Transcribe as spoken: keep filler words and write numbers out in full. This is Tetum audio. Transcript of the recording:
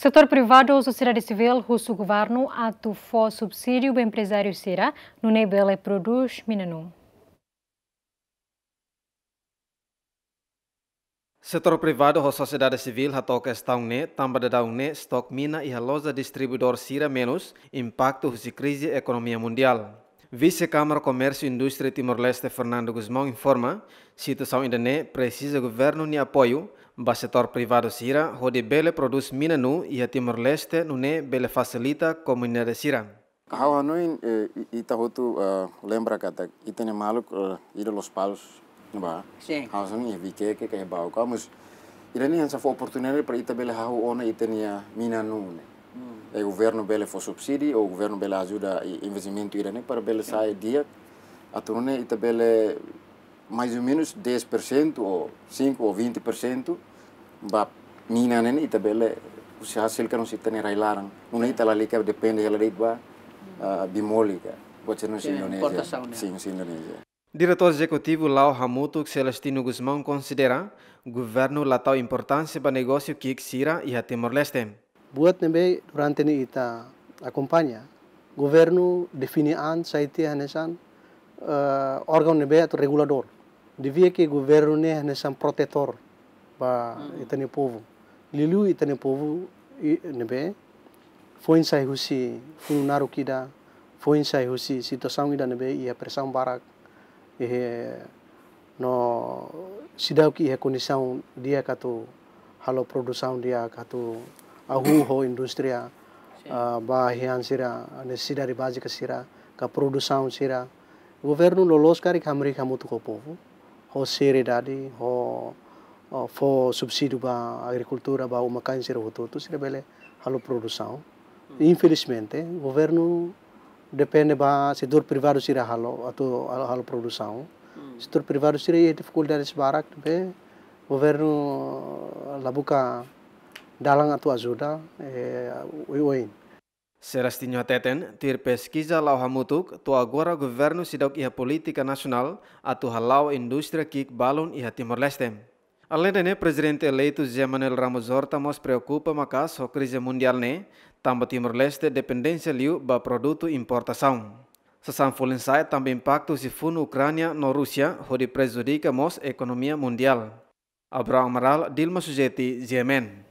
Setór privadu ho sosiedade sivíl husu governu atu fó subsídiu ba emprezáriu sira nune'e bele prodús mina-nuu. Setór privadu ho sosiedade sivíl hato'o kestaun ne'e tanba daudaun ne'e estok mina iha loja distribuidór sira menus, impaktu husi krize ekonomia mundiál. Vise Kámara Komérsiu Indústria Timor-Leste Fernando Gusmão informa, situasaun ida-ne'e presiza governu nia apoiu ba setór privadu sira hodi bele prodús mina-nuu iha Timor-Leste nune'e bele fasilita komunidade sira. Ha'u hanoin, eh, i-, ita hotu, eh, lembra katak ita-nia maluk, eh, ida Lospalos, ba. Sin. Ha'u hanoin iha Viqueque ka iha Baucau, mas ida-ne'e hanesan fó oportunidade para ita bele hahú ona ita-nia mina-nuu ne'e. Hmm. I governu bele fó subsídiu, ou governu bele ajuda i-, investimentu ida-ne'e para bele, sin, sai di'ak, atu nune'e ita bele mais ou menus dez por cento ou cinco ou vinte por cento ba mina ne'e ita bele husi hasil ka husi ita-nia rai-laran. Nune'e ita lalika depende hela de'it ba, ah, bee-mole ka. Buat sira-ne'e husi, sin, Indonézia. Importasaun, ne'e. Sin, husi Indonézia. Diretór Ezekutivu Lao Hamutuk Celestino Gusmão konsidera, governu la tau importánsia ba negósiu ki'ik sira iha Timor-Leste. Buat ne'ebé durante ne'e ita akompaña, governu define an sai tiha hanesan, eh, órgaun ne'ebé atu reguladór. Devia ke governu ne'e hanesan protetór ba, hmm, ita-nia povu. Liuliu ita-nia povu i-, ne'ebé foin sai husi funu naruk ida, foin sai husi situasaun ida ne'ebé iha presaun barak, eh, no seidauk iha kondisaun di'ak atu halo produsaun di'ak, atu hahú ho indústria, sin, ah, ba hian sira, nesesidade bázika sira, ka produsaun sira. Governu loloos karik hamriik hamutuk ho povu, ho seriedade, ho, ho fó subsídiu ba agrikultura, ba uma-kain sira hotu-hotu, sira bele halo produsaun. Hmm. Infelizmente, governu depende ba setór privadu sira halo, atu halo, halo produsaun. Hmm. Setór privadu sira iha difikuldades barak, ne'ebé governu la buka dalan atu ajuda, eh, oioin. Celestino hateten, tuir peskiza Lao Hamutuk, to'o agora governu seidauk iha polítika nasionál atu hala'o indústria ki'ik balun iha Timor-Leste. Aleinde ne'e, Prezidente eleitu José Manuel Ramos Horta mós preokupa maka'as ho krize mundiál ne'e, tanba Timor-Leste dependénsia liu ba produtu importasaun. Sasán folin sa'e tanba impaktu husi funu Ukránia no Rúsia hodi prejudika mós ekonomia mundiál. Abrão Amaral, Dilma Sujeti, G M N.